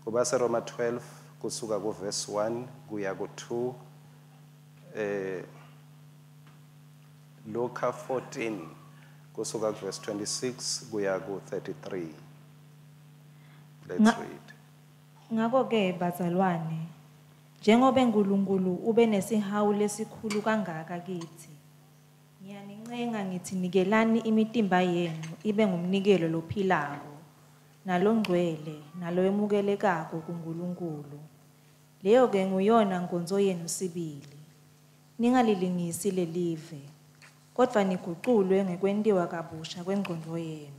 KubaseRoma 12 kusuka kuverse 1 kuya ku2, Luka 14 kusuka kuverse 26 kuya ku33. Let's read. Ngako-ke bazalwane, njengobe Nkulunkulu ube nesihawu lesikhulu kangaka kitsi, ngiyanincenga ngitsi nikelani imitimba yenu ibe ngumnikelo lophilako, nalongcwele, nalowemukelekako kuNkulunkulu. Leyo-ke nguyona nkonzo yenu sibili. Ningalilingisi lelive, kodvwa niguculwe ngekwentiwa kabusha kwengcondvo yenu,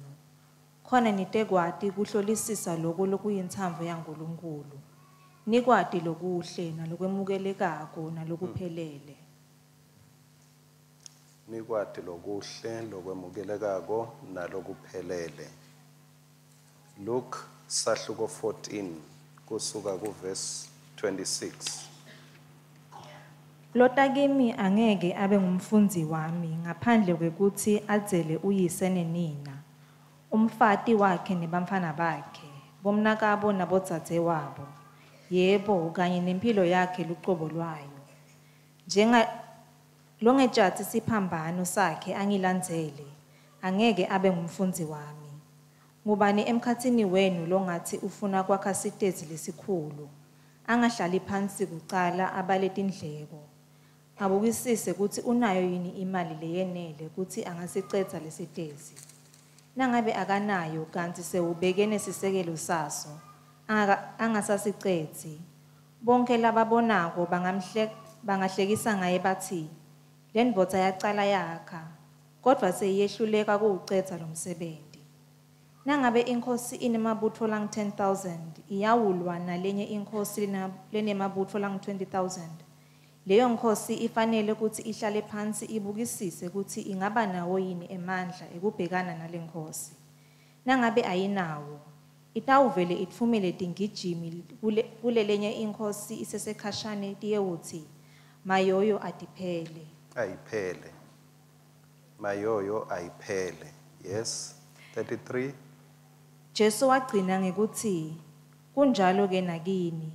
khona nitekwati kuhlolisisa loko lokuyintsandvo yaNkulunkulu, nikwati lokuhle nalokwemukelekako nalokuphelele. Nikwati lokuhle, lokwemukelekako nalokuphelele. Luke sahluko 14 kusuka kuverse 26. Lota kimi angeke abe ngumfundzi wami ngaphandle kwekutsi adzele uyise nenina, umfati wakhe nebantfwana bakhe, bomnakabo nabodzadzewabo, yebo, kanye nemphilo yakhe lucobo lwayo. Njenga longetjatsi siphambano sakhe angilandzele, angeke abe ngumfundzi wami. Ngubani emkhatsini wenu longatsi ufuna kwakha sitezi lesikhulu, angahlali phansi kucala abale tindleko, abukisise kutsi unayo yini imali leyenele kutsi angasicedza lesitezi? Nangabe akanayo kantsi sewubeke nesisekelo saso, angasasicedzi, bonkhe lababonako bangahlekisa ngaye batsi, lendvodza yacala yakha, kodvwa seyiyehluleka kuwucedza lomsebenti. Nangabe inkhosi inemabutfo langu-10 000 iyawulwa nalenye inkhosi lenemabutfo langu-20 000, leyo nkhosi ifanele kutsi ihlale phansi ibukisise kutsi ingaba nawo yini emandla ekubhekana nale nkhosi. Nangabe ayinawo, itawuvele itfumele tingijimi kulelenye inkhosi isesekhashane tiyewutsi, mayoyo atiphele. Ayiphele. Mayoyo ayiphele. Yes. 33. Jesu wagcina ngekutsi, kunjalo-ke nakini,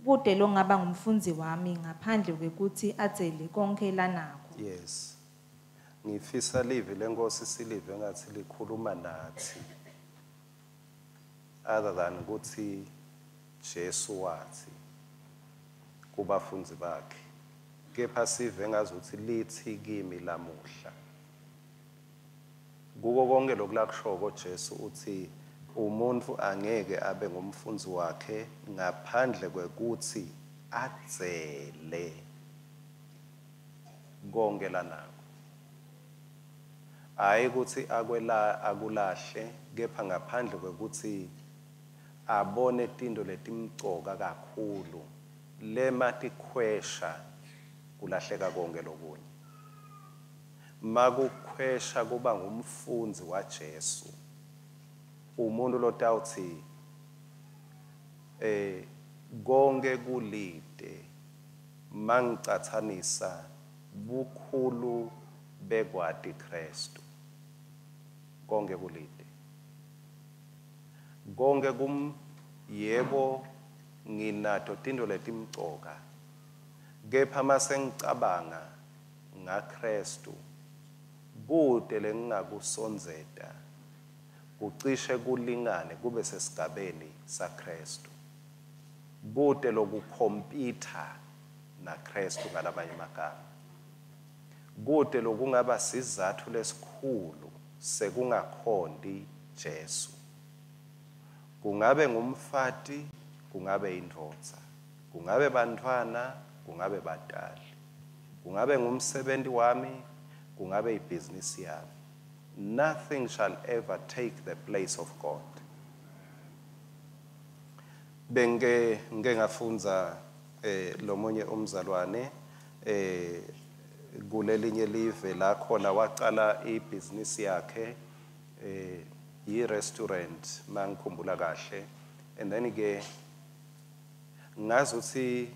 kute longaba ngumfundzi wami ngaphandle kwekutsi adzele konkhe lanako. Yes. Ngifisa livi leNkosi silive ngathi likhuluma nathi. Other than ukuthi Jesu wathi kubafundzi bakhe, kepha sive ngazuthi lithi kimi lamuhla. Kuko konke lokulakushoko Jesu uthi umuntu angeke abe ngumfundzi wakhe ngaphandle kwekutsi adzele konke lanako. Hayi ukuthi akwela akulahle, kepha ngaphandle kwekutsi abone tinto letimcoka kakhulu lema tikhwesha kulahleka konke lokunye. Makukhwesha kuba ngumfundzi waJesu, umuntu lotawutsi konke kulide mangicatsanisa bukhulu bekwati Kristu. Konke kulide. Konke kum yebo nginato tinto letimcoka, kepha masengicabanga ngaKristu kute lengingakusondzeta kucishe kulingane kube sesigabeni saKristu. Kute lokukhompitha naKristu ngalamanye amagama. Kute lokungaba sizatfu lesikhulu sekungakhonti Jesu. Kungabe ngumfati, kungabe indvodza, kungabe bantfwana, kungabe batali, kungabe ngumsebenti wami, kungabe ibhizinisi yami. Nothing shall ever take the place of God. Bengike ngike ngafundza lomunye umzalwane kulelinye live la khona waqala ibhizinisi yakhe, i-restaurant mangikhumbula kahle, and then ke ngazuthi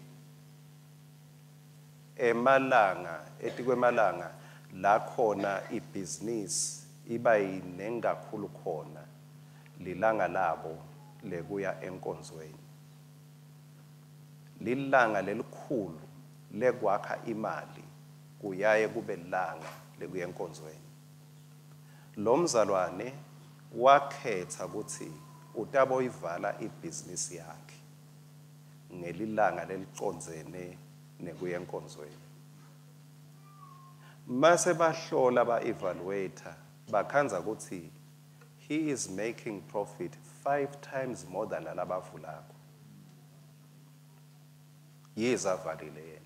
emalanga etikwemalanga la khona ibhizinisi iba yinengi kakhulu khona lilanga labo lekuya enkonzweni. Lilanga lelikhulu lekwakha imali kuyaye kube lilanga lekuya enkonzweni. Lo mzalwane wakhetha ukuthi utaboyivala ibhizinisi yakhe ngelilanga lelicondzene nekuya enkonzweni. Mase bahlola ba-evaluator bakhandza ukuthi he is making profit 5 times more than lalabavulako. Yize avalile yena.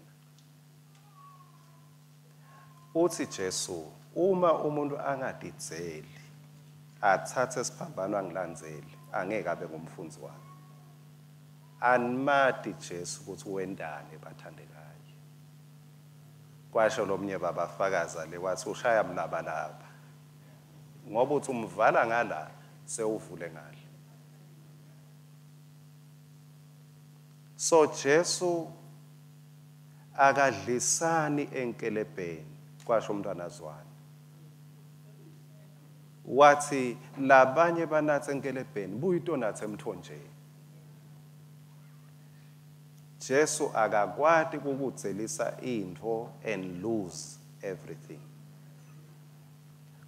Uthi Jesu uma umuntu angadidzeli athathe siphambano angilandzele angeke abe ngumfundzi wami. Animati Jesu ukuthi wendani bathandekayo. Kwasho lomnye babafakaza le wathi ushaya mlabalaba. Ngoba uthi umvala ngala sewuvule ngala. So Jesu akadlisani enkelebheni kwasho umntwana Zwane. Wathi labanye banathe enkelebheni buyitonathe emthonjeni. Jesu akakwati ukukudzelisa intfo and lose everything.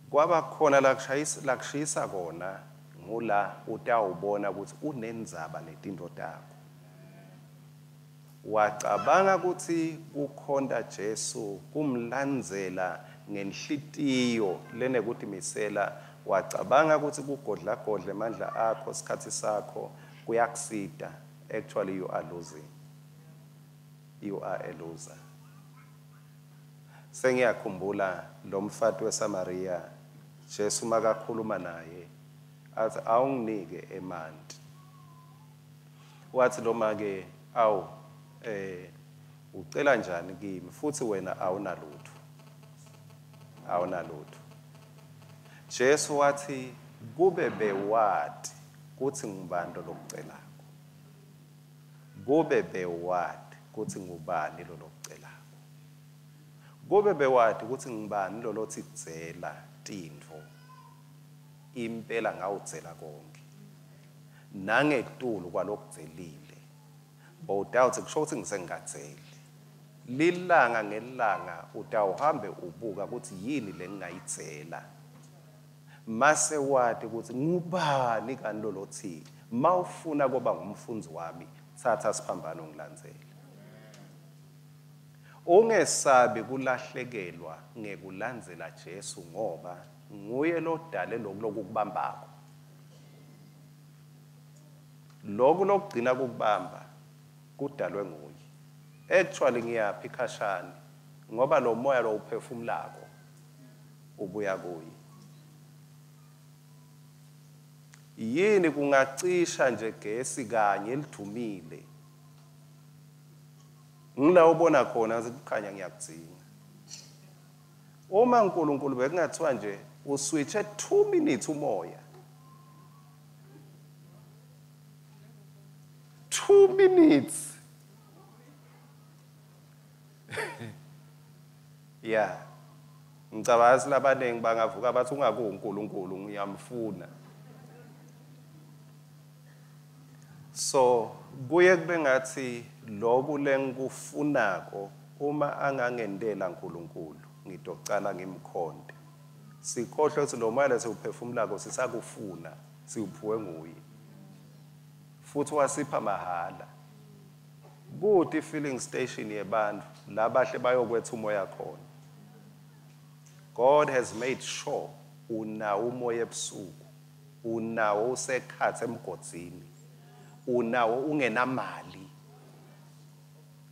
Kwaba khona lakushayisa kona ngula utawubona ukuthi unendzaba netinto takho. Wacabanga ukuthi kukhonta Jesu kumlandzela ngenhlitiyo lenekutimisela, wacabanga ukuthi kugodla godla emandla akho isikhathi sakho kuyakusita. Actually you are losing. You are a loser. Sengiyakhumbula lo mfati weSamaria, Jesu makakhuluma naye athi awunginike emanti. Wathi lo make awu ucela njani kimi futhi wena awunalutho. Awunalutho. Jesu wathi kube bewati kuthi ngubani lokucelako. Kube bewati kuthi ngubani lokucelako. Kube bewati kuthi ngubani lolothi dzela tintfo. Impela ngawudzela konke. Nangetulu kwalokudzelile. Bowutawuthi kusho ukuthi ngisengingadzeli. Lilanga ngelanga utawuhambe ubuka ukuthi yini lengingayidzela. Mase wati ukuthi ngubani kanti lolothi mawufuna kuba ngumfundzi wami thatha siphambano ngilandzele. Ungesabi kulahlekelwa ngekulandzela Jesu ngoba nguye lodale lokhu lokukubambako. Lokhu lokugcina kukubamba kudalwe nguye. Actually ngiyaphi khashane ngoba lo moya lo uphefumulako ubuya kuye. Yini kungacisha nje gesi kanye elidumile. Ngila ubona khona ukukhanya ngiyakudzinga. Uma uNkulunkulu bekungathiwa nje uswitche 2 minutes umoya. 2 minutes. Yeah. Ngicabanga labaningi bangavuka bathi ungaku uNkulunkulu ngiyamfuna. So kuye kube ngathi lokhu lengikufunako uma angangendela uNkulunkulu ngidocala ngimkhonde. Sikhohlwe ukuthi lo moya lesiwuphefumulako sisakufuna siwuphiwe nguye. Futhi wasipha mahala. Kuthi filling station yebantu labahle bayokwetha umoya khona. God has made sure unawo umoya ebusuku, unawo usekhathe emgodzini, unawo ungenamali,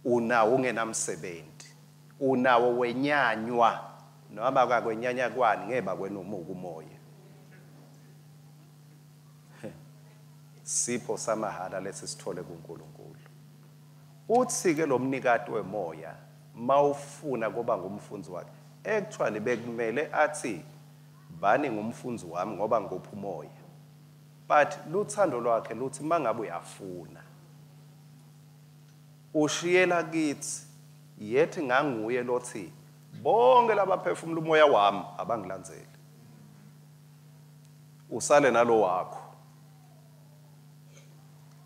unawo ungenamsebenzi, unawo wenyanywa noma akakwenyanya kwani ngeke bakwenomuka umoya. Sipho samahala lesi sithole kuNkulunkulu. Uthi ke lo mnikati wemoya mawufuna kuba ngumfundzi wakhe, actually bekumele athi bani ngumfundzi wami ngoba ngopha umoya. But luthando lwakhe luthi mangabe uyafuna ushiyela kithi yethi nganguye lothi bonke labaphefumula umoya wami abangilandzeli. Usale nalo wakho.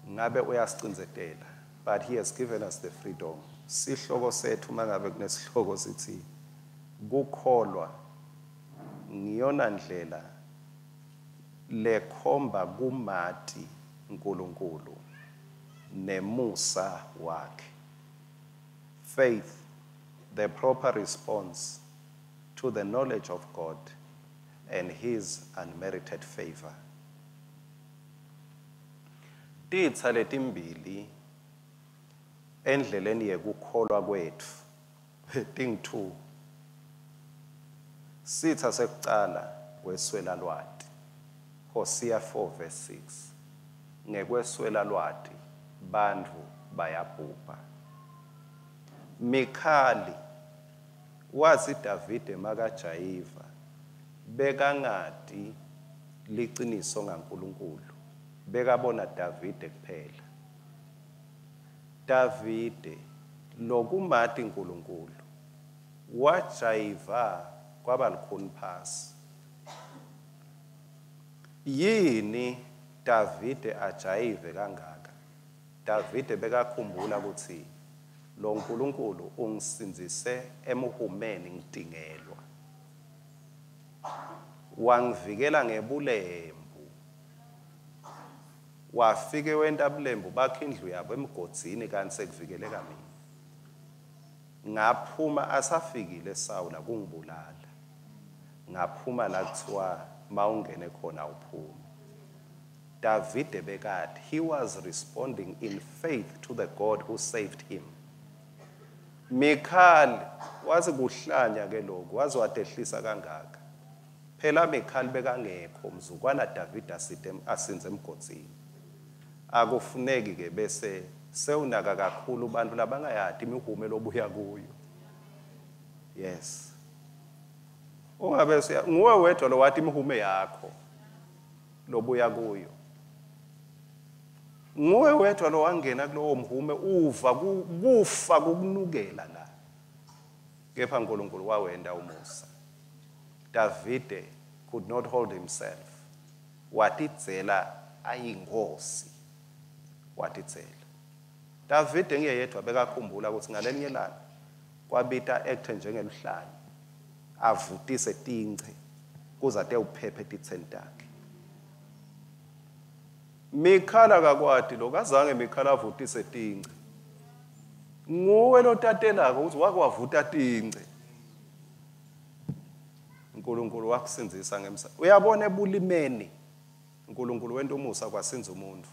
Ngabe uyasicindzetela But he has given us the freedom. Sihloko sethu mangabe kunesihloko sithi kukholwa ngiyona ndlela lekhomba kumati uNkulunkulu nemusa wakhe. Faith, the proper response to the knowledge of God and his unmerited favor. Titsa letimbili endleleni yekukholwa kwetfu ting-2. Sitha sekucala kweswela lwati. Hosea 4 verse 6. Ngekweswela lwati bantfu bayabhubha. Mikhali wathi Davide makajayiva bekangati liciniso ngaNkulunkulu, bekabona Davide kuphela. Davide lokumati uNkulunkulu wajayiva kwaba likhuni phasi. Yini Davide ajayive kangaka? Davide bekakhumbula ukuthi lo nkulunkulu ungisindzise emuhumeni ngitingelwa, wangivikela ngebulembu, wafike wenta bulembu bakhe indlu yabo emgodzini kanti sekuvikeleka mina. Ngaphuma asafikile Sawula kungibulala, ngaphuma la kuthiwa mawungene khona uphume. Davide bekati, he was responding in faith to the God who saved him. Mikhali wathi kuhlanya ke lokhu, waze wadehlisa kangaka. Phela Mikhali bekangekho mzukwana Davide asinze emgodzini. Akufuneki ke bese sewunaka kakhulu bantu labangayati imihume lobuya kuyo. Yes. Ungabe nguwe wedwa lo wathi imihume yakho lobuya kuyo. Nguwe wedwa lo wangena kulowo mhume uva kufa kukunukela la. Kepha uNkulunkulu wawenda umusa. Davide could not hold himself. Watidzela ayinkosi. Watidzela. Davide ngiyedwa bekakhumbula ukuthi ngalenye ilanga kwabita acte njengeluhlanya avutise tinche kuze ate uphephe titseni takhe. Mikhala akakwati lokho, azange Mikhala avutise tinche. Nguwe lotatelako ukuthi wake wavuta tinche. uNkulunkulu wakusindzisa ngemsa. Uyabona ebulimeni uNkulunkulu wenta umusa kwasinza umuntu.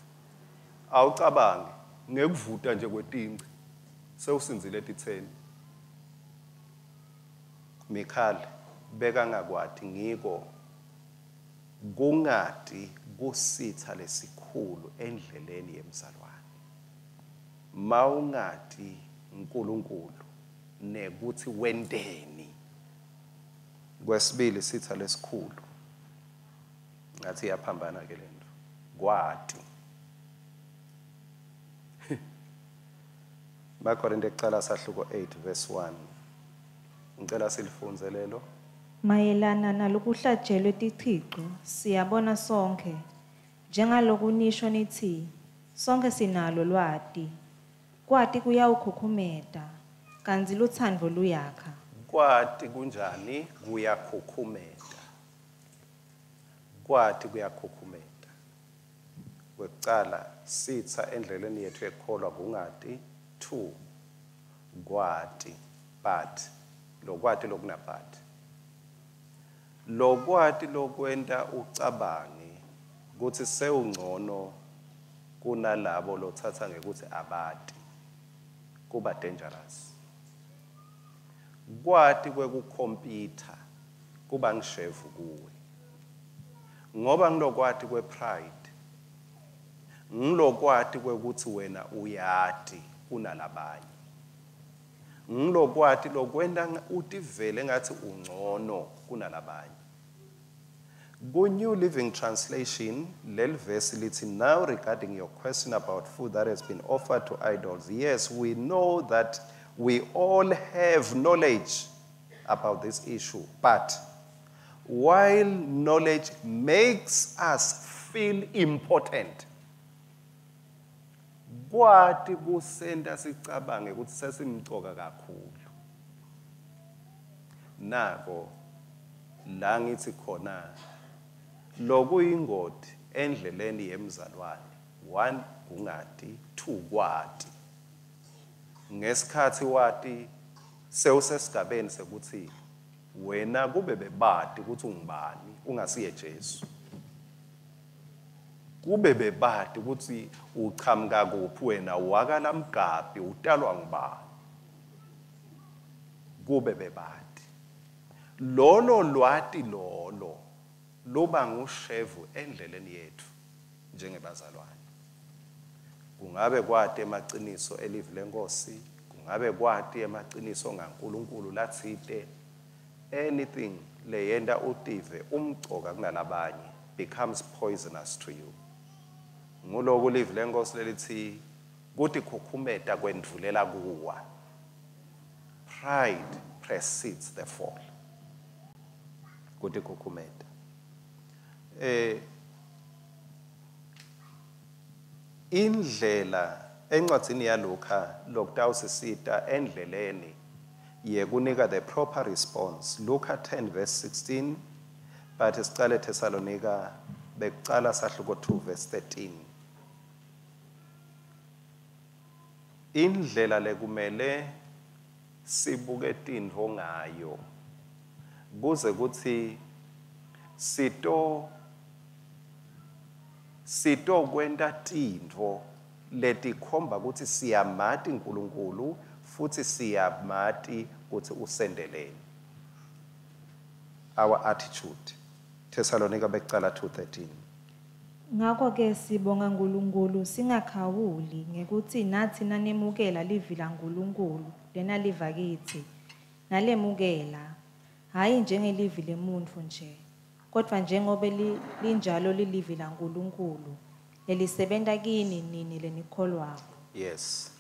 Awucabange ngekuvuta nje kwetinche sewusindzile etitseni. Mikhali bekangakwati ngiko kungati kusitha lesikhulu endleleni yemzalwane. Mawungati uNkulunkulu nekuthi wenteni. Kwesibili sitha lesikhulu ngathi iyaphambana ke lento, kwati. Bakorinte kucala sahluko 8 verse 1. Ngicela silifundze lelo. Mayelana nalokuhlatshelwe tithico, siyabona sonkhe, njengaloku nisho nitsi, sonkhe sinalo lwati. Kwati kuyawukhukhumeta, kantsi lutsandvo luyakha. Kwati kunjani? Kuyakhukhumeta. Kwati kuyakhukhumeta. Kwekucala sitsa endleleni yethu yekukholwa kungati. 2 kwati, but lokwati lokunabhat. Lokwati lokwenta ucabange kutsi sewungcono kunalabo lothatha ngekuthi abati, kuba dangerous. Kwati kwekukhompyutha kuba ngishevu kuwe, ngoba ngilokwati kwepride, ngilokwati kwekuthi wena uyati kunalabanye, ngilokwati lokwenta utivele ngathi ungcono kunalabanye. Ku New Living Translation, leli verse lithi, now regarding your question about food that has been offered to idols, yes, we know that we all have knowledge about this issue, but while knowledge makes us feel important, Kwati kusenta sicabange ukuthi sesimcoka kakhulu. Nako la ngithi khona lokuyingoti endleleni yemzalwane, 1 kungati, 2 kwati. Ngesikhathi wati sewusesigabeni sekuthi wena kube bebati ukuthi ungubani ungasiye Jesu. Kube bebati ukuthi uchamuka kuphi wena, wakalamgabi, utalwa ngubani. Kube bebati. Lolo lwati lolo luba ngushevu endleleni yethu njengebazalwane. Kungabe kwati emaqiniso elivi lenkosi, kungabe kwati emaqiniso ngaNkulunkulu latsite, anything leyenta utive umcoka kunalabanye becomes poisonous to you. Nguloku livi lenkosi lelithi kutikhukhumeta kwendvulela kuwa. Pride precedes the fall. Kutikhukhumeta. Indlela encwadzini yaLuka lokutawusisita endleleni yekunika the proper response. Luka 10 verse 16, but sicale Thessalonika bekucala sahluko 2 verse 13. Indlela lekumele sibuke tintfo ngayo kuze kutsi sitokwenta tintfo letikhomba kutsi siyamati uNkulunkulu futhi siyamati kutsi usendeleni. Our attitude. Thessalonika bekucala 2:13. Ngakho ke sibonga uNkulunkulu singakhawuli ngekuthi nathi nanemukela livi laNkulunkulu lenaliva kithi nalemukela, hayi njengelivi lemuntfu nje, kodwa njengobe linjalo lilivi laNkulunkulu lelisebenta kini nini lenikholwako. Yes,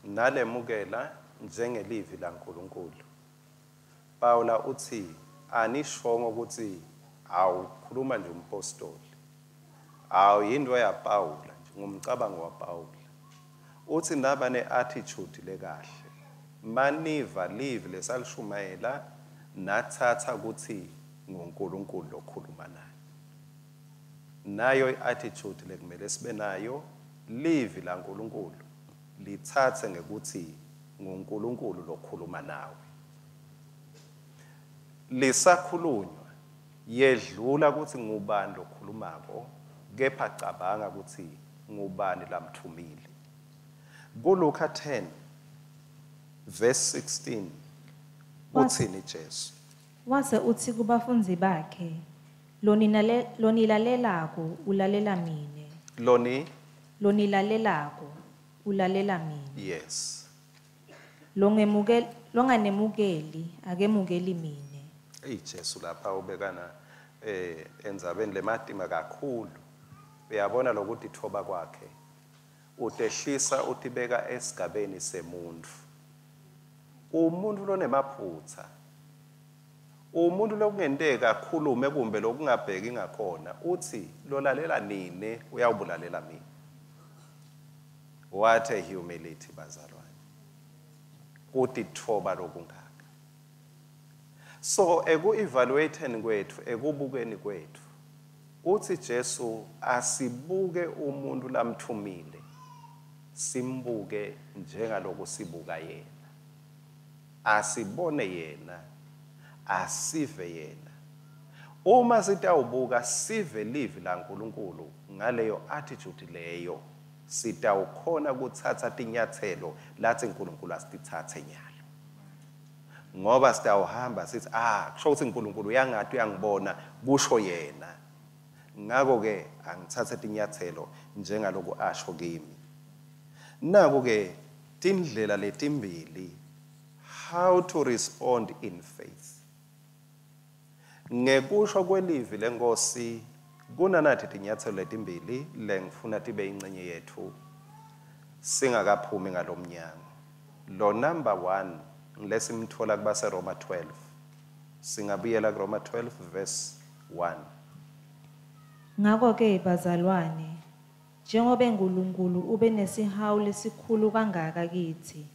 nalemukela njengelivi laNkulunkulu. Paula uthi anishongo ukuthi awukhuluma nje umpostoli, awu yinto yaPaula nje, ngumcabango waPaula. Uthi naba ne-attitude lekahle, maniva livi lesalishumayela nathatha ukuthi nguNkulunkulu lokhuluma naye. Nayo i-attitude lekumele sibe nayo, livi laNkulunkulu lithathe ngekuthi nguNkulunkulu lokhuluma nawe. Lisakhulunywa yedlula ukuthi ngubani lokhulumako, kepha cabanga ukuthi ngubani lamthumile. KuLuka 10 verse 16 uthini Jesu? Wase uthi kubafundzi bakhe, lonilalelako ulalela mine. Loni? Lonilalelako ulalela mine. Yes. Longanemukeli akemukeli mine. Ey Jesu lapha ubekana endzabeni lematima kakhulu. Uyabona lokuthi thoba kwakhe. Utehlisa utibeka esigabeni semuntu. Umuntu lonemaphutha, umuntu lokungenteka akhulume kumbe lokungabheki ngakhona, uthi lolalela nine uyawubulalela mina. What a humility bazalwane. Kutithoba lokungaka. So eku-evaluating kwethu, ekubukeni kwethu, uthi Jesu asibuke umuntu lamthumile, simbuke njengaloku sibuka yena. Asibone yena, asive yena. Uma sitawubuka sive livi laNkulunkulu ngaleyo attitude leyo, sitawukhona kuthatha tinyathelo lathi uNkulunkulu asitithathe nyalo. Ngoba sitawuhamba sithi kusho ukuthi uNkulunkulu uyangathi uyangibona, kusho yena. Ngakho ke angithathe tinyathelo njengaloku asho kimi. Naku ke tindlela letimbili how to respond in faith. Ngekusho kwelivi lenkosi kunanathi tinyathelo letimbili lengifuna tibe ingcenye yethu singakaphumi ngalomnyango. Lo number 1 ngilesimthola kubase Roma 12. Singabuyela kuRoma 12 verse 1. Ngakho ke bazalwane, Njengobe Nkulunkulu ube nesihawu lesikhulu kangaka kitsi,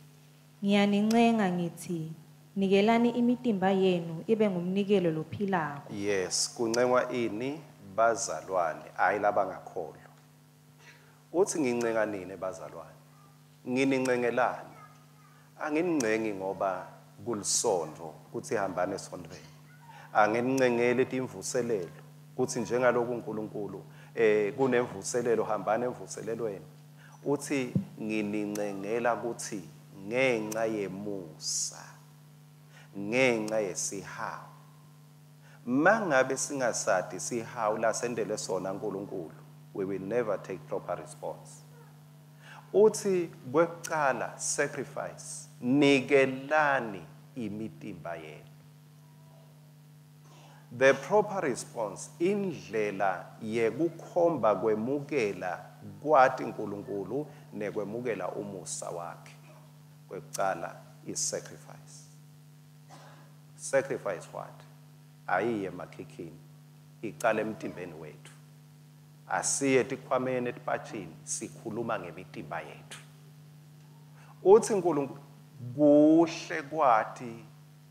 ngiyanincenga ngitsi, nikelani imitimba yenu ibe ngumnikelo lophilako, Yes, kuncengwa ini bazalwane, hayi labangakholwa. Uthi ngincenga nini bazalwane? Nginincengelani? Anginincengi ngoba kulisonto kuthi hambane esontweni. Anginincengeli timvuselelo kuthi njengaloku uNkulunkulu kunemvuselelo hambane emvuselelweni. Uthi nginincengela ukuthi ngenxa yemusa, ngenxa yesihawu. Mangabe singasadi sihawu lasendele sona uNkulunkulu, we will never take proper response. Uthi kwekucala sacrifice, nikelani imitimba yenu. The proper response, indlela yekukhomba kwemukela kwati uNkulunkulu nekwemukela umusa wakhe. Kwekucala is sacrifice. Sacrifice what? Ayiye emakhikhini, icala emtimbeni wethu. Asiye etikhwameni etipatshini, sikhuluma ngemitimba yethu. Uthi uNkulunkulu kuhle kwati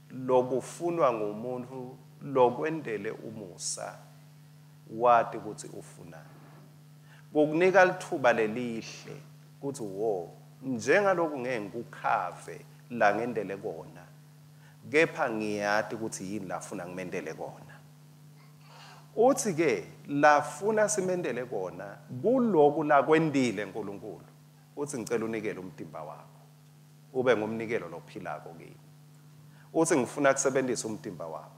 lokufunwa ngumuntu lokwendele umusa, wati ukuthi ufunani. Kukunika lithuba lelihle kuthi wo njengaloku ngeke ngikukhave la ngendele kona, kepha ngiyati ukuthi yini lafuna ngimendele kona. Uthi ke lafuna simendele kona kuloku lakwendile uNkulunkulu. Uthi ngicela unikele umtimba wakho ube ngumnikelo lophilako kimi. Uthi ngifuna kusebenzisa umtimba wakho,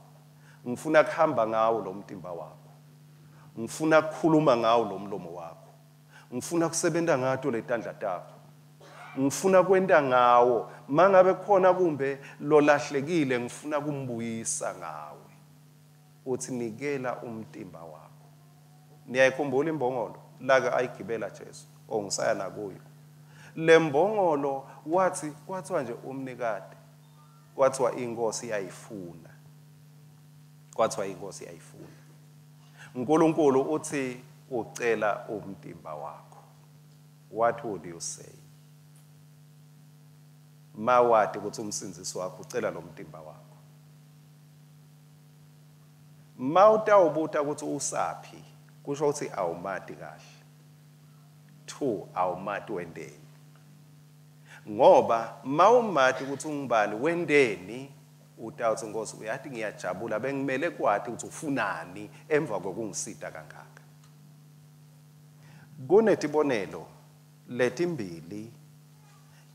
ngifuna kuhamba ngawo lo mtimba wakho, ngifuna kukhuluma ngawo lo mlomo wakho, ngifuna kusebenza ngato letandla takho, ngifuna kwenta ngawo mangabe khona kumbe lolahlekile ngifuna kumbuyisa ngawe. Uthi nikela umtimba wakho. Niyayikhumbula imbongolo lake ayigibela Jesu, ongisaya nakuyo lembongolo? Wathi kwathiwa nje umnikati, kwathiwa inkosi yayifuna, kwathiwa inkosi yayifuna. uNkulunkulu uthi ucela umtimba wakho. What would you say mawati ukuthi umsindzisi wakho ucela lo mtimba wakho? Mawutawubuta ukuthi usaphi, kusho ukuthi awumati kahle. 2 awumati wendeni, ngoba mawumati ukuthi ungubani wendeni, utawuthi Nkosi uyathi ngiyajabula bengimele kwati ukuthi ufunani emva kokungisita kangaka. Kunetibonelo letimbili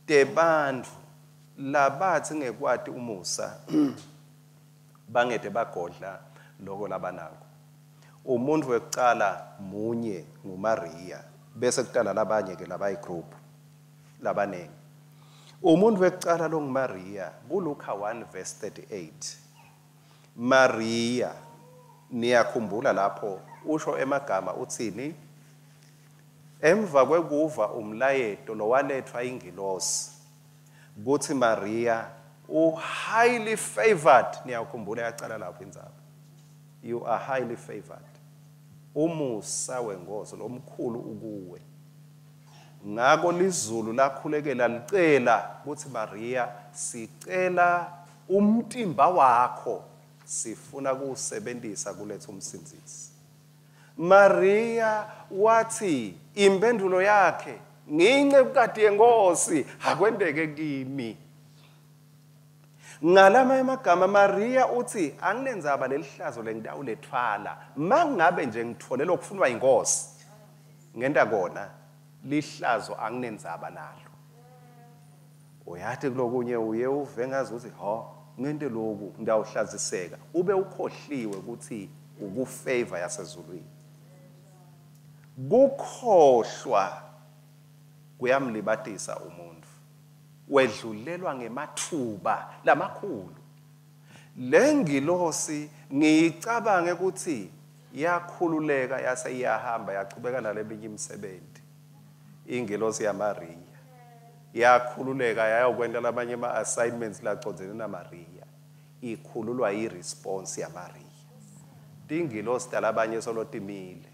tebantfu labathi ngekwati umusa bangete bagodla loko labanako. Umuntu wekucala munye nguMaria, bese kutala labanye ke labayigroup labanengi. Umuntu wekucala lo nguMaria, kuLuka 1 verse 38. Maria, niyakhumbula lapho usho emagama utsini? Emva kwekuva umlayeto lowalethwa ingilosi kuthi Maria u highly favored, niyakhumbula yacala lapho indzaba. You are highly favored. Umusa wengozi lomkhulu ukuwe. Ngako lizulu lakhulekela licela kuthi Maria sicela umtimba wakho, sifuna kuwusebenzisa kuletha umsindzisi. Maria wathi impendulo yakhe, ngiyincekukati yenkosi, akwenteke kimi. Ngalama emagama Maria uthi anginendzaba lelihlazo lengitawulethwala, mangabe nje ngithole lokufunwa inkosi ngenta kona, lihlazo anginendzaba nalo. Uyathi kulokunye uye uve ngazi ukuthi ho ngente lokhu ngitawuhlaziseka, ube ukhohliwe ukuthi ukufavor yasezulwini. Kukhohlwa kuyamlibatisa umuntu, wedlulelwa ngemathuba lamakhulu. Lengilosi ngiyicabange ukuthi yakhululeka yase iyahamba yachubeka naleminye imisebenzi. Ingilosi yaMaria yakhululeka yayokwenta lamanye ama-assignments lacondzene naMaria. Ikhululwa i-response yaMaria. Tingilosi talabanye solo timile.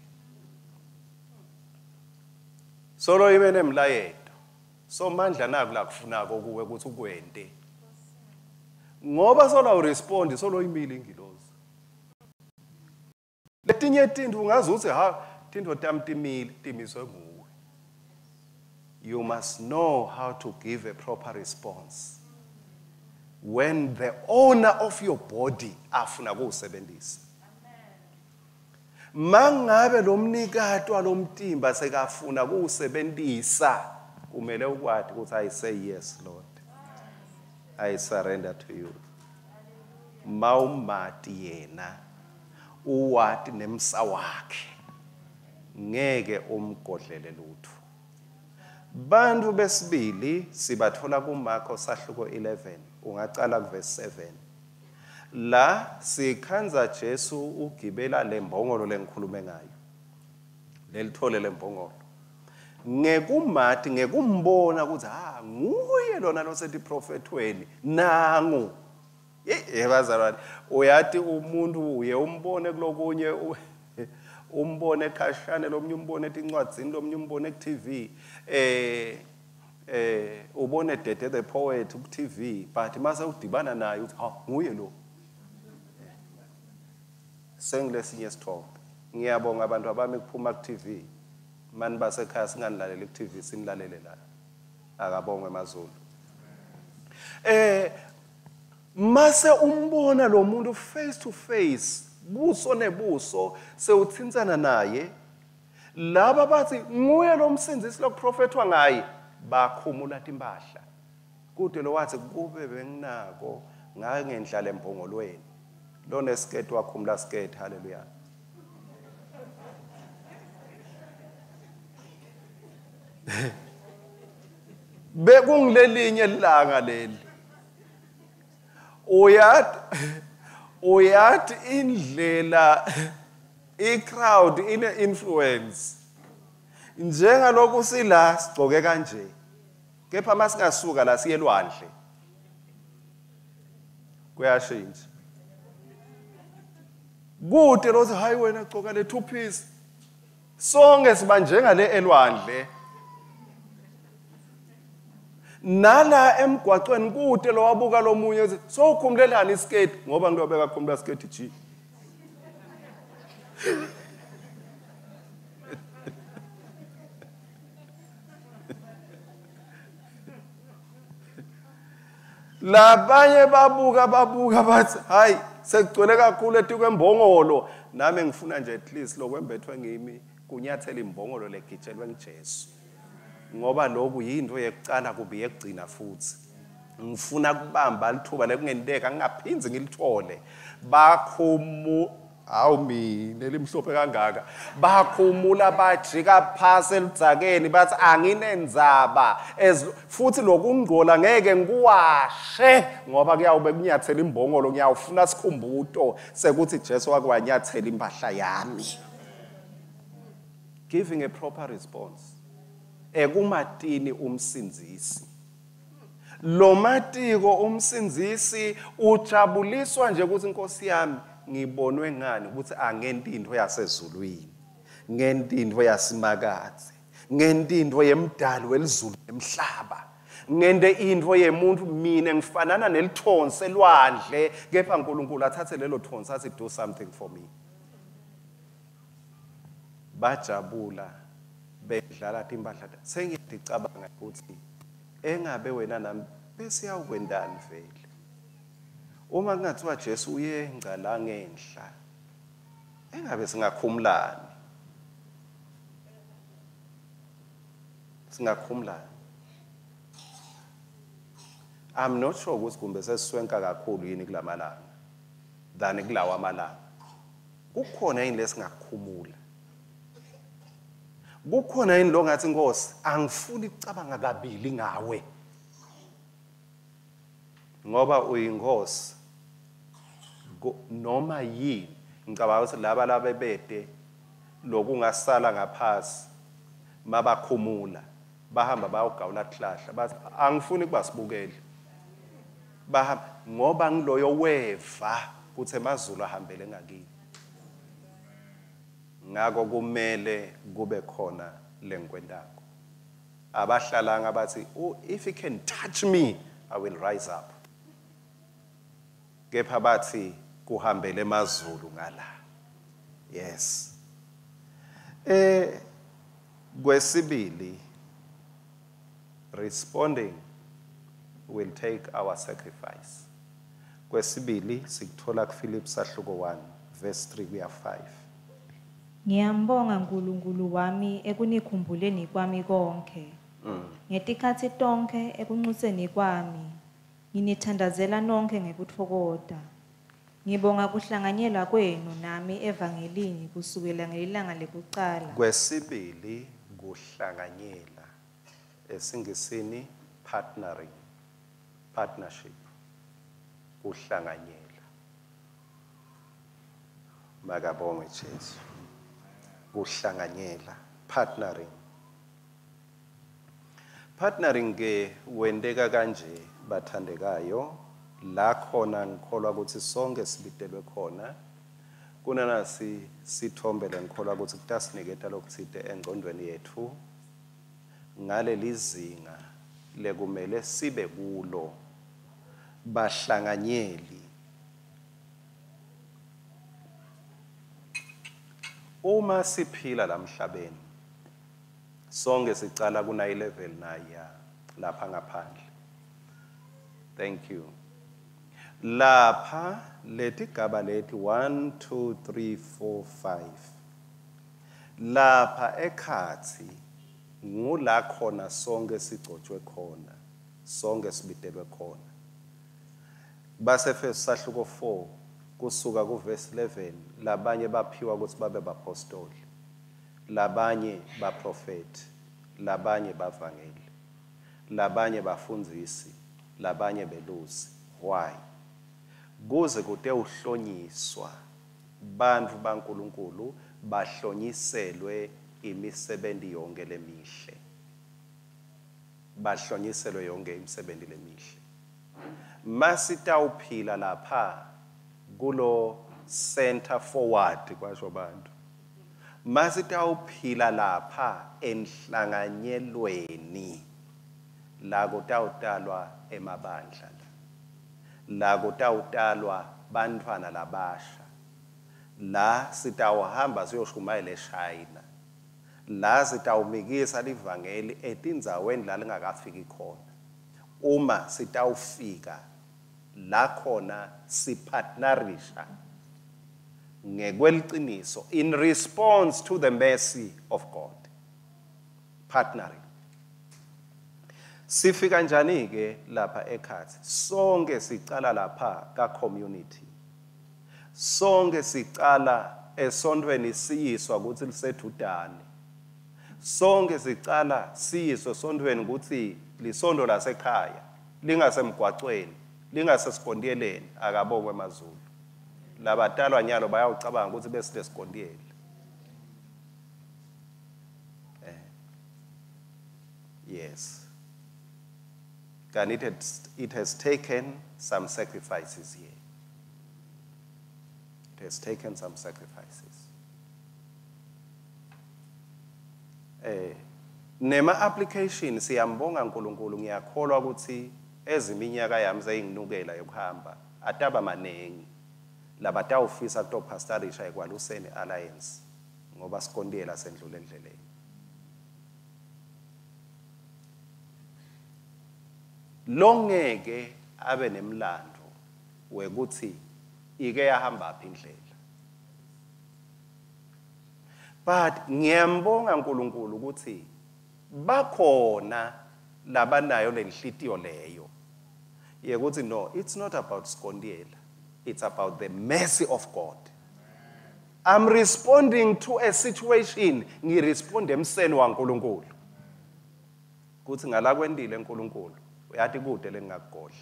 Solo ime nemlayeto. Somandla naku lakufunako kuwe ukuthi ukwente. Ngoba solo awurespondi solo imile ingilozi. Letinye tintfo ungaze utsi ha tintfo tami timile timiswe nguwe. You must know how to give a proper response when the owner of your body afuna kuwusebenzisa. Mangabe lo mnikati walomtimba sekafuna kuwusebenzisa, kumele ukwati ukuthi I say yes Lord, I surrender to you. Mawumati yena uwati nemsa wakhe, ngeke umgodlele lutho. Bantu besibili sibathola kuMarko sahluko 11, ungacala kuverse 7. La sikhandza Jesu ugibela lembongolo lengikhulume ngayo, lelithole lembongolo. Ngekumati, ngekumbona ukuthi ha nguye lona losetiprofethweni nangu. Yebazalwane, uyati umuntu uye umbone kulokunye, umbone khashane, lomnye umbone etincwadzini, lomnye umbone ku-TV, ubone Dede the Poet ku-TV, but mase udibana naye uthi ha nguye lo. Sengilesinye isithombe. Ngiyabonga abantu abami kuphuma ku-TV. Mani basekhaya singanilaleli ku-TV, sinilalele la. Akabongwe emazulu. Mase umbona lo muntu face to face, buso nebuso, sewuthintsana naye. Laba bathi nguye lo msindzisi lokuprofethwa ngaye, bakhumula timpahla. Kude lo wathi kube benginako ngangendlala embongolweni. Lona esiketi wakhumula siketi, haleluya. Bekungilelinye ilanga leli. Uyathi indlela i-crowd ine-influence. Njengalokhu sila sigcoke kanje, kepha masingasuka la siye elwandle kuyashintsha. Kude lothi hayi wena gcoka le two piece, sonke siba njengale elwandle. Nala emgwaqweni kude lo wabuka lomunye uthi sowukhumulelani isiketi, ngoba ngilobeka khumula isiketi G. Labanye babuka bathi hayi sekugcwele kakhulu etikwembongolo, nami ngifuna nje at least lokwembethwe ngimi kunyathela imbongolo legitshelwe ngiJesu, ngoba lokhu yinto yekucala kubi yekugcina futhi. Ngifuna kubamba lithuba lekungenteka ngingaphindzi ngilithole. Bakhumu hawu mina limhlophe kangaka, bakhumula bajika phasi eludzakeni bathi anginendzaba, futhi lokungcola ngeke ngikuwashe ngoba kuyawube kunyathela imbongolo, ngiyawufuna sikhumbuto sekuthi Jesu wakwanyathela impahla yami. Giving a proper response ekumatini umsindzisi. Lo matiko umsindzisi ujabuliswa nje ukuthi Nkosi yami ngibonwe ngani ukuthi angenti into yasezulwini, ngenti into yasimakadze, ngenti into yemdali welizulu nemhlaba, ngente into yemuntu mina ngifanana nelithonsi elwandle, kepha uNkulunkulu athathe lelo thonsi athi do something for me. Bajabula bedlala timpahla. Sengiyacabanga ukuthi engabe wena nami bese yawukwendani vele. Uma kungathiwa Jesu uyengca la ngenhla, engabe singakhumulani? Singakhumulani? I'm not sure ukuthi kumbe sesiswenka kakhulu yini kulamalanga than kulawa amalanga. Kukhona yini lesingakhumula? Kukhona yini lo ngathi Nkosi angifuni ukucabanga kabili ngawe, ngoba uyinkosi noma yini. Ngicabanga ukuthi laba labebede lokungasala ngaphasi mabakhumula bahamba bayogawula tihlahla bathi angifuni kuba sibukele, bahamba ngoba ngiloyo weva kuthi emazulu ahambele ngakini. Ngako kumele kube khona lengikwentako. Abahlalanga bathi, oh, if he can touch me, I will rise up. Kepha bathi kuhambele emazulu ngala. Yes. Kwesibili, responding will take our sacrifice. Kwesibili sikuthola kuPhilip sahluko 1 verse 3 kuya 5. Ngiyambonga uNkulunkulu wami ekunikhumbuleni kwami konke. Ngetikhatsi tonkhe ekunxuseni kwami nginithandazela nonke ngekutfokota. Ngibonga kuhlanganyela kwenu nami evangelini kusukela ngelilanga lekucala. Kwesibili kuhlanganyela, esingisini partnering, partnership, kuhlanganyela. Makabongwe Jesu. Kuhlanganyela, partnering. Partnering ke wenteka kanje bathandekayo, la khona ngikholwa ukuthi sonke sibitelwe khona. Kunanasi sithombe lengikholwa ukuthi kutasiniketa lokutsite engcondweni yethu ngaleli zinga lekumele sibe kulo bahlanganyeli. Uma siphila lamhlabeni sonke sicala kuna level 9 lapha ngaphandle. Thank you. Lapha letigaba leti 1 2 3 4 5. Lapha ekhatsi ngula khona sonke sigcotshwe khona, sonke sibitelwe khona. Basefeso sahluko 4 kusuka ku verse 11 labanye baphiwa ukuthi babe bapostoli, labanye baprofeti, labanye bavangeli, labanye bafundzisi, labanye belusi. Why? Kuze kute uhlonyiswa bantfu baNkulunkulu bahlonyiselwe imisebenti yonke lemihle. Bahlonyiselwe yonke imisebenti lemihle. Masitawuphila lapha kulo center forward kwasho bantu. Masitawuphila lapha enhlanganyelweni la kutawutalwa emabandla, la kutawutalwa bantfwana labasha, la sitawuhamba siyoshumayela eShayina, la sitawumikisa livangeli etindzaweni la lingakafiki khona. Uma sitawufika la khona sipartnerisha ngekweliciniso in response to the mercy of God. Partnering. Sifika njani ke lapha ekhatsi? Sonke sicala lapha ka community. Sonke sicala esontweni siyiswa ukuthi lisedudane. Sonke sicala siyiswe esontweni ukuthi lisondo lasekhaya, lingasemgwacweni, lingasesigontiyeleni, akabongwe emazulu. Labatalwa nyalo bayawucabanga ukuthi besilesigontiyele. Yes. And it has taken some sacrifices here. It has taken some sacrifices. Nema application siyambonga uNkulunkulu, ngiyakholwa ukuthi eziminyaka yami seyinginukela yokuhamba ataba manengi labatawufisa kutopastorisha eKwaluseni Alliance ngoba sikontiyela sendlule endleleni. Longeke abe nemlando wekuthi ike yahamba phi indlela. But ngiyambonga uNkulunkulu ukuthi bakhona labanayo lenhlitiyo leyo yekuthi no, it's not about sikontiyela, it's about the mercy of God. I'm responding to a situation, ngiresponde emseni waNkulunkulu. Kuthi ngala kwendile uNkulunkulu, uyathi kude lengakugodla.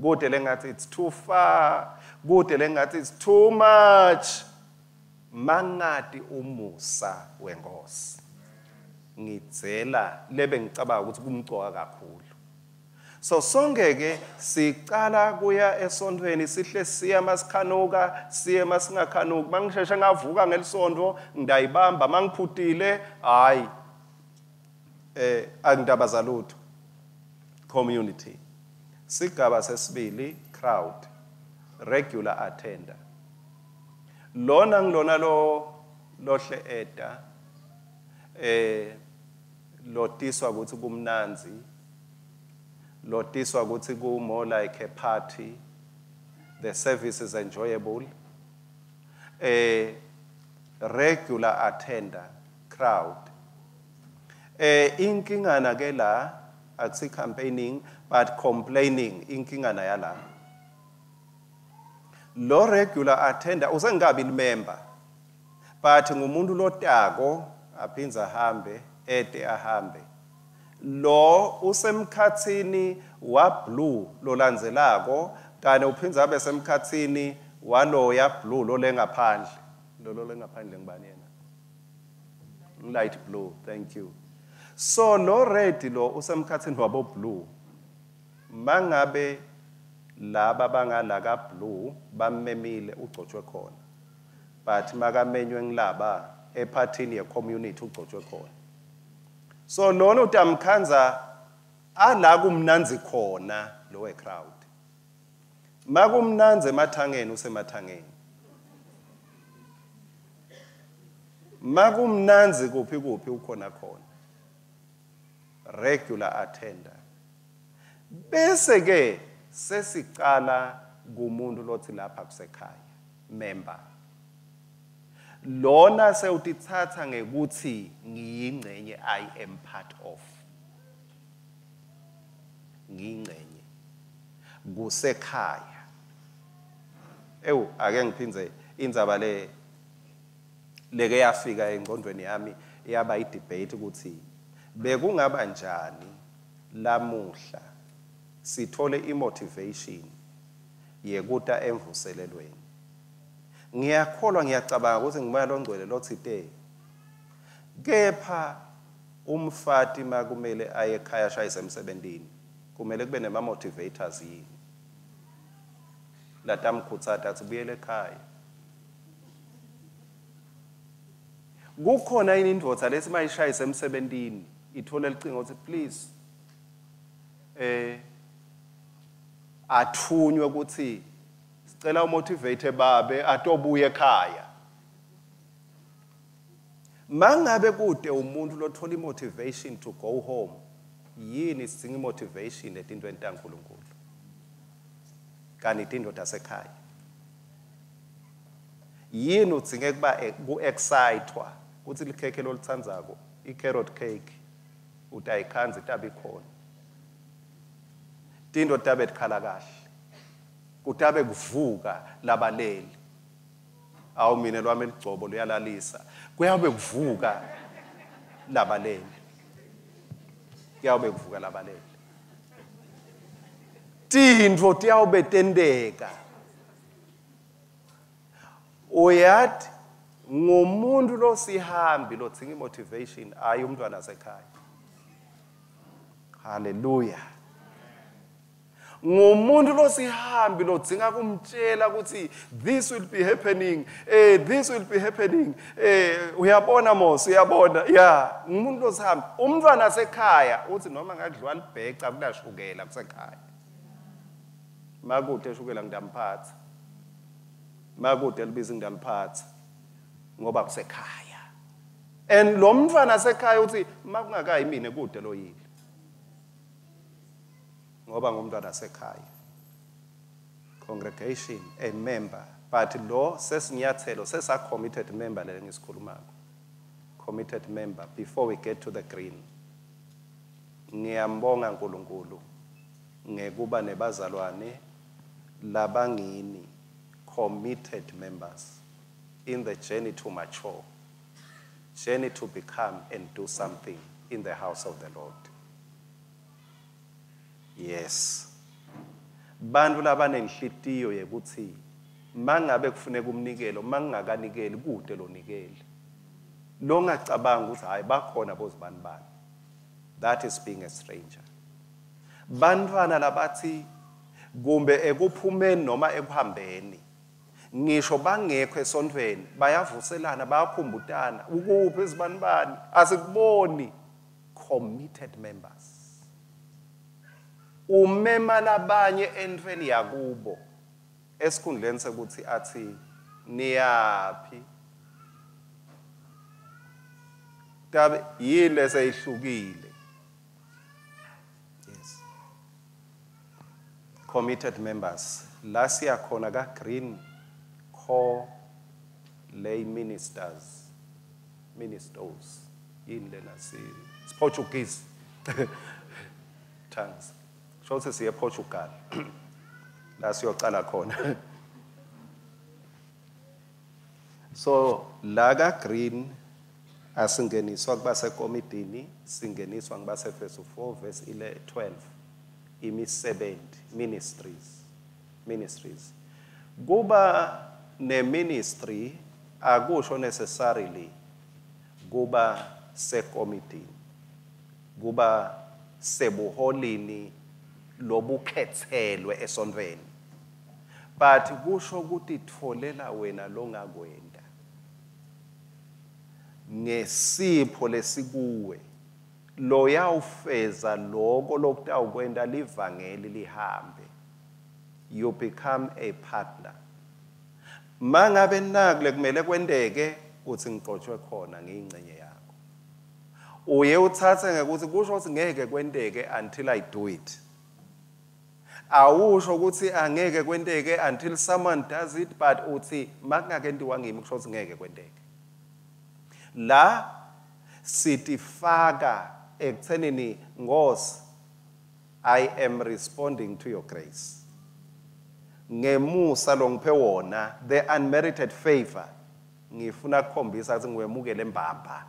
Kude lengathi it's too far, kude lengathi it's too much. Mangati umusa wenkosi. Ngidzela lebe ngicabanga ukuthi kumcoka kakhulu. So sonke ke sicala kuya esontweni sihle siya masikhanuka, siye masingakhanuki. Mangisheshe ngavuka ngelisonto ngidayibamba, mangiphutile hayi. Angindaba zalutho. Community. Sigaba sesibili, crowd. Regular attender. Lona ngilona lo lohle eta lotiswa ukuthi kumnanzi, lotiswa ukuthi ku more like a party, the service is enjoyable. Regular attender, crowd. Inkingana ke la akusi campaigning but complaining, inkingana yala. Lo regular attender usengabi member, but ngumuntu lotako aphinza ahambe ete ahambe. Lo usemkhathini wa blue lolandzelako kanye uphinza abe semkhathini walo ya blue lo lengaphandle. Lo lengaphandle ngibani yena? Light blue, thank you. So lo red lo usemkhathini wabo blue. Mangabe laba bangala ka blue bamemile ugcotshwe khona. But makamenywe ngilaba ephathini ye community ugcotshwe khona. So lona utamkhanza ala kumnanzi khona lo we crowd. Makumnanzi emathangeni usemathangeni. Makumnanzi kuphi kuphi ukhona khona. Regular attender. Bese ke sesicala kumuntu lothi lapha kusekhaya member. Lona sewutithatha ngekuthi ngiyingcenye, I am part of. Ngiyingcenye. Kusekhaya. Ewu ake ngiphindze indzaba le leke yafika engqondweni yami yaba i-debate ukuthi bekungaba njani lamuhla sithole i-motivation yekuta emvuselelweni. Ngiyakholwa, ngiyacabanga ukuthi ngumoya longcwele lothite kepha umfati makumele aye ekhaya ashayise emsebentini kumele kube nema motivators yini latamkhutsata athi buyele ekhaya. Kukhona yini indvodza lesi mayishayise emsebentini ithole licingo ukuthi please athunywe ukuthi sicela umotivate babe atobuye ekhaya. Mangabe kude umuntu lothola imotivation to go home, yini sidinga imotivation etintweni taNkulunkulu kanti indoda sekhaya? Yini udzinge kuba ku-excitwa kuthi likhekhe lolitsandzako i-carrot cake utayikhanza itabe ikhona, tinto tabe tikhala kahle, kutabe kuvuka labaleli. Awu mina lwami ligcobo luyalalisa, kuyabe kuvuka labaleli, kuyabe kuvuka labaleli, tintfo tiyawube tenteka. Uyathi ngumuntu losihambi lodzinga imotivation, hayi umntwana sekhaya. Hallelujah. Ngumuntu losihambi lodzinga kumtshela ukuthi this will be happening, this will be happening, uyabona mos, uyabona. Yeah, ngumuntu losihambi. Umntwana sekhaya uthi noma ngakudliwa libheca kunashukela kusekhaya. Makude eshukela ngidamphatha, makude libiza ngidaliphatha ngoba kusekhaya. And lo mntwana sekhaya uthi makungakayi mina kude loyile ngoba ngumntwana sekhaya. Congregation, a member, but lo sesinyathelo sesa committed member le ngisikhulumako. Committed member before we get to the green. Ngiyambonga uNkulunkulu ngekuba nebazalwane labangini committed members in the journey to mature, journey to become and do something in the house of the Lord. Yes. Bantu labanenhlitiyo yekuthi mangabe kufuneka umnikelo, mangingakanikeli kude lonikele. Longacabanga ukuthi hayi bakhona bozibani bani. That is being a stranger. Bantwana labathi kumbe ekuphumeni noma ekuhambeni ngisho bangekho esontweni bayavuselana, bayakhumbutana, ukuphi izibani bani asikuboni. Committed members. Umema labanye entweni yakubo esikhundleni sekuthi athi niyaphi. Tabe yini leseyihlukile? Yes. Committed members. La siyakhona ka Green Core Lay Ministers. Ministers. Yini lena si Portuguese. Tongues. Sho siye Portugal. La siyocala khona. So la ka Green asingeniswa kubasekomidini, singeniswa ngibase 4 verse 12. Imisebenzi, ministries. Ministries. Kuba ne ministry akusho necessarily kuba sekomidini, kuba sebuholini lobukhethelwe esontweni, but kusho kutitfolela wena longakwenda ngesipho lesikuwe loyawufeza lokho lokutawukwenta livangeli lihambe. You become a partner. Mangabe nakule kumele kwenteke uthi ngiqotshwe khona ngiyingcenye yakho, uye uthathe ngekuthi kusho ukuthi ngeke kwenteke until I do it. Awusho ukuthi angeke kwenteke until someone does it, but uthi makungakentiwa ngimi kusho ukuthi ngeke kwenteke. La sitifaka ekuthenini Nkosi, I am responding to your grace. Ngemusa longiphe wona, the unmerited favor, ngifuna kukhombisa ukuthi ngiwemukele mbamba.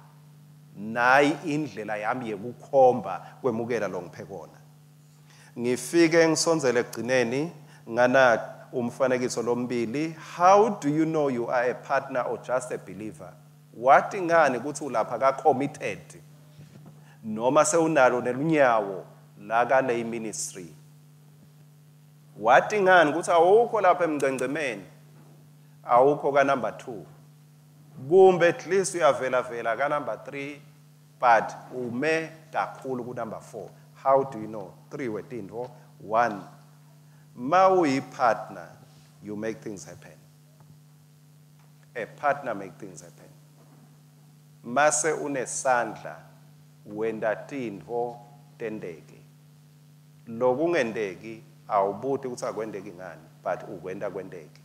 Nayi indlela yami yekukhomba kwemukela longiphe kona. Ngifike ngisondzele ekugcineni ngana umfanekiso lombili. How do you know you are a partner or just a believer? Wathi ngani ukuthi ulapha ka committed noma sewunalo nelunyawo la ka lay ministry? Wathi ngani ukuthi awukho lapha emngcengcemeni, awukho ka number 2, kumbe at least uyavela vela ka number 3, but ume kakhulu ku number 4. How do you know? 3 wetintfo. 1, ma uyi partner, you make things happen. A partner make things happen. Mase unesandla wenda tintfo tenteke. Lokungenteki awubuti ukuthi akwenteki ngani, but ukwenta kwenteke.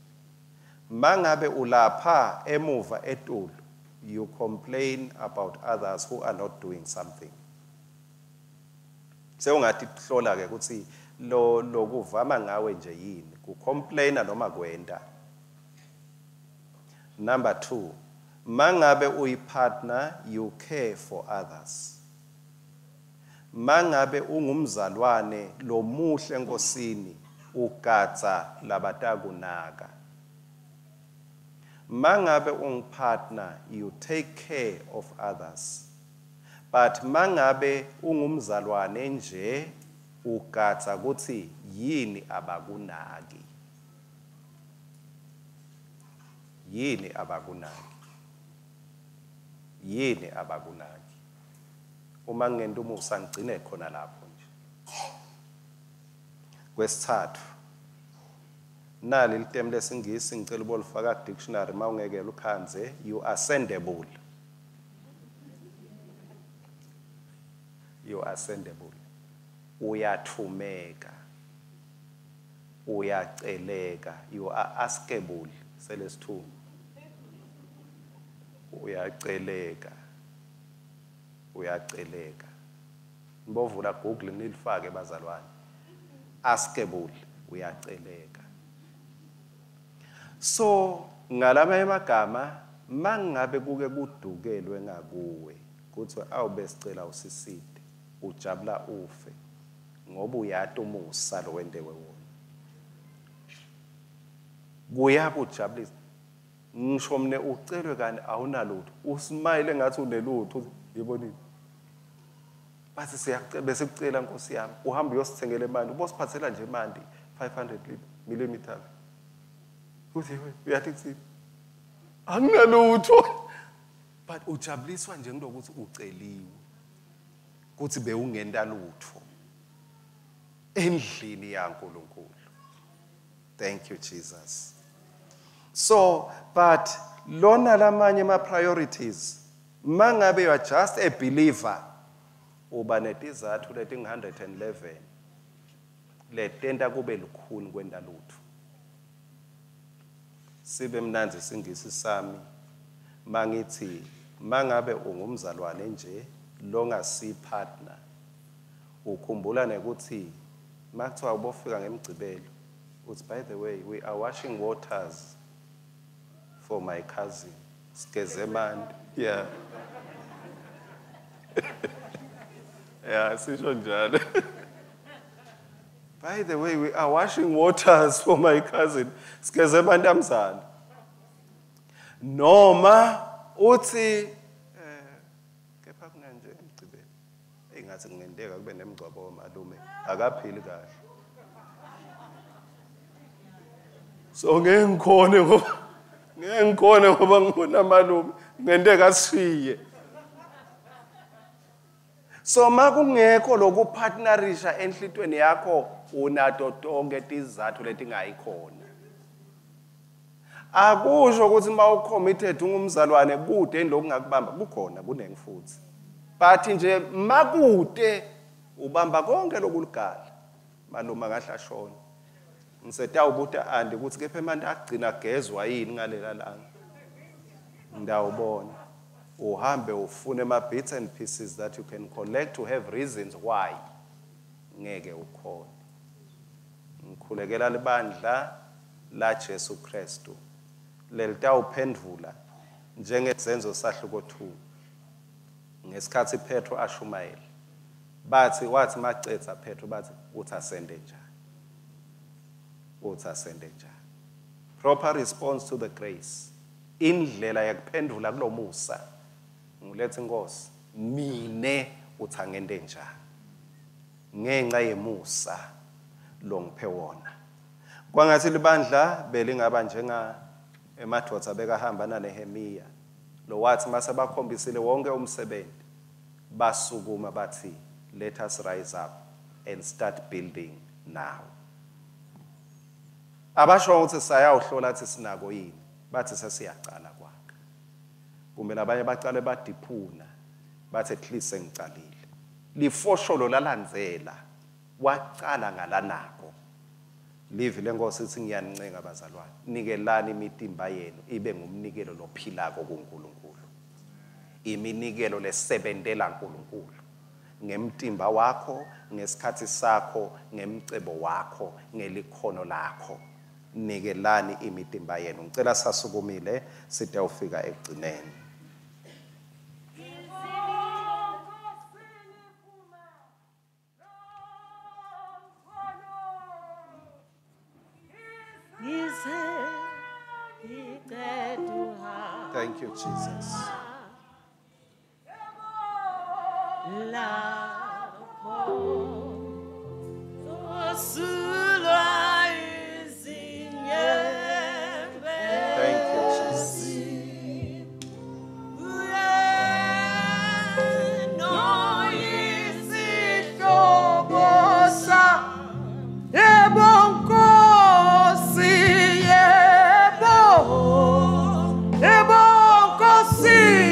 Mangabe ulapha emuva etulu, you complain about others who are not doing something. Sewungathi kuhlola ke ukuthi lo lokuvama ngawe nje yini, kucomplaina noma kwenta. Number 2, mangabe uyipartner, you care for others. Mangabe ungumzalwane lomuhle enkosini, ugadza labatakunaka. Mangabe ungipartner, you take care of others. But mangabe ungumzalwane nje, ugadza kutsi yini abakunaki. Yini abakunaki. Yini abakunaki. Uma ngento umusa ngigcine khona lapho nje. Kwesithathu, nali litemu lesingisi ngicela ubolifaka dictionary mawungeke lukhanze, you are sendable. You are sendable. Uyathumeka. Uyaceleka. You are askable. Selesithume. Uyaceleka. Uyaceleka. Nibovula Google nilifake bazalwane. Askable, uyaceleka. So ngalamanye amagama mangabe kuke kudukelwe ngakuwe kuthi awubesicela usiside, ujabula ufe ngoba uyati umusa lo wentewe wona. Kuyakujabulisa. Ngisho mne ucelwe kani awunalutho, usmile ngathi unelutho, yibonile. Bathi siyacela bese kucela Nkosi yami, uhamba uyosithengela imali, ubosiphathela nje imali 500 millimeters. Uthi uyathi kuthini? Anginalutho. But ujabuliswa nje ngilokuthi uceliwe. Kuthi bewungenta lutho endlini yaNkulunkulu. Thank you, Jesus. So, but lona lamanye ama priorities, mangabe you are just a believer, uba netizathu leting 111 letenta kube lukhuni kwenta lutho. Sibe mnandzi singisi sami mangithi mangabe ungumzalwane nje longasi partner, ukhumbula nekuthi makuthiwa ubofika ngemgcibelo uthi, by the way, we are washing waters for my cousin Sigezemandi. Yeah. Yeah, sisho njalo. By the way, we are washing waters for my cousin Sigezemandi amzala. Noma uthi kepha kunanje emgcibelo engathi kungenteka kube nemgcwabo wamalume akaphili kahle. So ngeke ngikhone ngoba ngibona malume ngenteka sishiye. So makungekho lokupartnerisha enhlitweni yakho unato tonke tizathu letingayikhona. Akusho ukuthi mawucommitted ungumzalwane kude lokungakubamba kukhona kunengi futhi. But nje makude ubamba konke lokuligala. Malume kahle ashona. Ngisetawubuta andi ukuthi kepha emanti agcina agezwa yini ngalela langa. Ndawubona. Uhambe ufune ama bits and pieces that you can collect to have reasons why ngeke ukhone. Ngikhulekela libandla la Jesu Kristu lelitawuphendvula njengezenzo sahluko 2 ngesikhathi Petro ashumayela. Bathi wathi macetha Petro bathi uthi asende njani? Uthi asende njani? Proper response to the grace. Indlela yakuphendula kulomusa ngilethe inkosi mine uthi angende njani ngenxa yemusa longiphe wona. Kwangathi libandla belingaba njenga emadvodza bekahamba naNehemiya lo wathi mase bakhombisile wonke umsebenzi basukuma bathi let us rise up and start building now. Abasho ukuthi sayawuhlola athi sinako yini, bathi sesiyacala kwakhe. Kumbe labanye bacale badiphuna bathi at least sengicalile. Lifosholo lalandzela wacala ngalanako. Livi lenkosi ithi ngiyanincenga bazalwane, nikelani imitimba yenu ibe ngumnikelo lophilako kuNkulunkulu. Iminikelo lesebentela uNkulunkulu ngemtimba wakho, ngesikhathi sakho, ngemcebo wakho, ngelikhono lakho. Nikelani imitimba yenu. Ngicela sasukumile sitawufika ekugcineni. Thank you, Jesus. Thank you, Jesus. Yebo, Nkosi,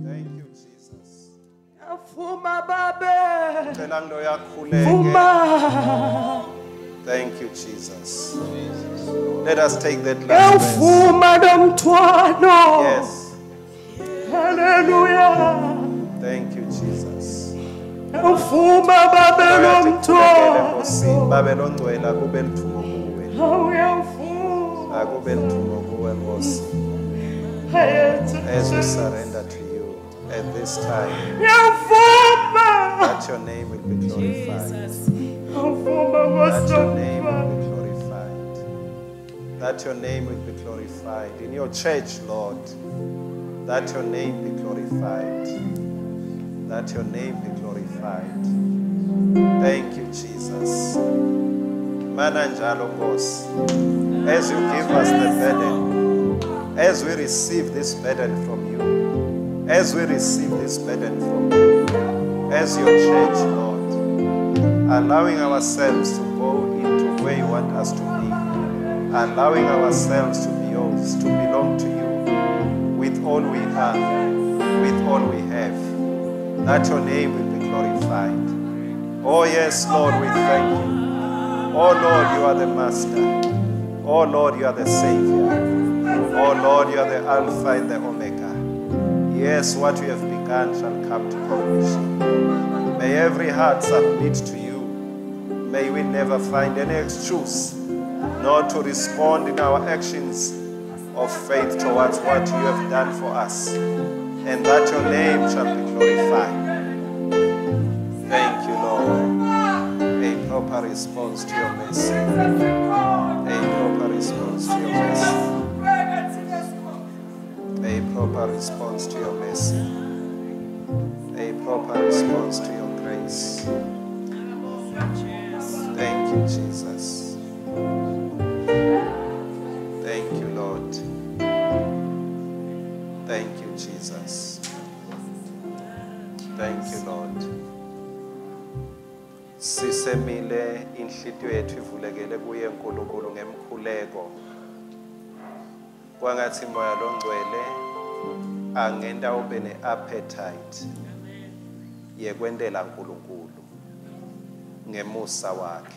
Thank you, Jesus. Vuma babe. Cela ngiloyakhuleke. Vuma. Thank you, Jesus. Let us take that last verse. Ewuvuma lo mthwalo. Yes. Hallelujah. Thank you, Jesus. Ewuvuma babe lo Uyathi Nkosi, mthwalo. babe longcwele akube lithumo kuwe. Awuyavuma. Akube lithumo kuwe Nkosi. As we surrender to you at this time, Uyavuma. that your name will be glorified. Ewuvuma Nkosi That your name lomthwalo. will be glorified. That your name will be glorified in your church, Lord. That your name be glorified. That your name be glorified. Thank you, Jesus. Mana njalo Nkosi, as you give us the burden, as we receive this burden from you, as we receive this burden from you, as your church, Lord, allowing ourselves to go into where you want us to be, allowing ourselves to be yours, to belong to you with all we are, with all we have, that your name will be glorified. Oh yes, Lord, we thank you. Oh Lord, you are the Master. Oh Lord, you are the Savior. Oh Lord, you are the Alpha and the Omega. Yes, what you have begun shall come to completion. May every heart submit to you. May we never find any excuse not to respond in our actions of faith towards what you have done for us, and that your name shall be glorified. Thank you, Lord. A proper response to your mercy. A proper response to your mercy. A proper response to your mercy. A proper response to your grace. Thank you, Jesus. Thank you, Lord. Thank you, Jesus. Thank you, Lord. Sisemile inhlitiyo yethu ivulekele kuye uNkulunkulu ngemkhuleko. Kwangathi moya longcwele angenta ube ne-appetite yekwentela uNkulunkulu ngemusa wakhe.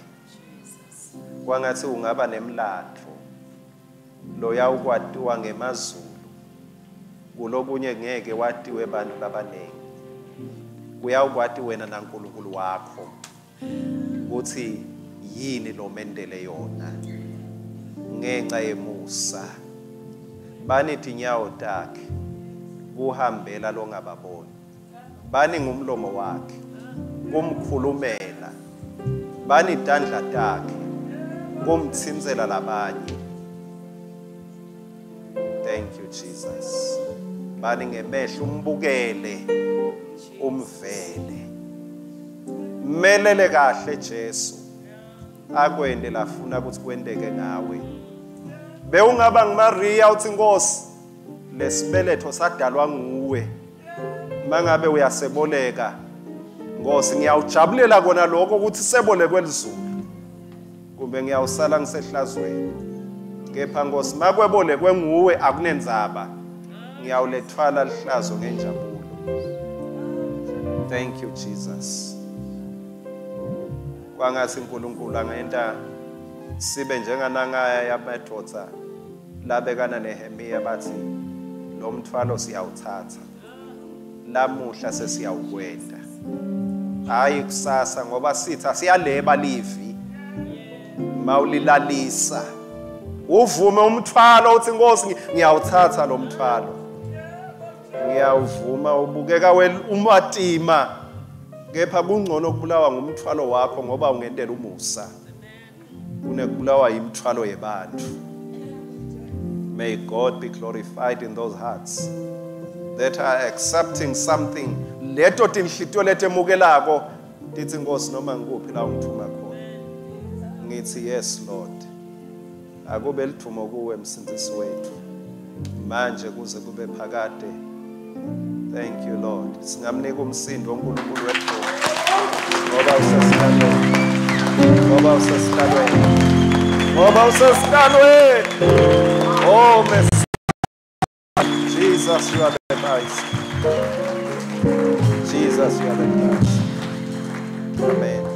Kwangathi ungaba nemlandvo loyawukwatiwa ngemazulu, kulokunye ngeke watiwe bantu labanengi. Kuyawukwati wena naNkulunkulu wakho kutsi yini lomendele yona ngenxa yemusa. Bani tinyawo takhe kuhambela longababoni, bani ngumlomo wakhe kumkhulumela, bani tandla takhe kumtsintsela labanye. Thank you, Jesus. Bani ngemehlo umbukele umvele, melele kahle Jesu akwende lafuna ukuthi kwenteke ngawe. Bewungaba nguMaria uthi Nkosi lesibeletho sadalwa nguwe, mangabe uyaseboleka Nkosi ngiyawujabulela kona lokho ukuthi sebolekwe lizulu, kumbe ngiyawusala ngisehlazweni, kepha Nkosi makwebolekwe nguwe akunenzaba, ngiyawulethwala lihlazo ngenjabulo. Thank you, Jesus. Kwangathi uNkulunkulu angenta sibe njenganangaya yamadvodza labekana neHemiya bathi lo mthwalo siyawuthatha lamuhla sesiyawukwenda, hayi kusasa, ngoba sitha siyaleba livi mawulilalisa uvume umthwalo uthi Nkosi ngiyawuthatha lo mthwalo, ngiyawuvuma. Ubukeka umatima, kepha kungcono ukubulawa ngumthwalo wakho ngoba ungentela umusa kunekubulawa imithwalo yebantu. May God be glorified in those hearts that are accepting something. Leto tinhlitiyo letemukelako tithi Nkosi noma ngikuphi la ungithuma khona, ngithi yes Lord, akube lithumo kuwe msindisi wethu manje kuze kube phakade. Thank you, Lord. Singamnika umsindo uNkulunkulu wethu ngoba usesihlalweni, ngoba usesihlalweni, ngoba usesihlalweni. Oh Messiah, Jesus, you are the Christ. Jesus, you are the Christ. Amen.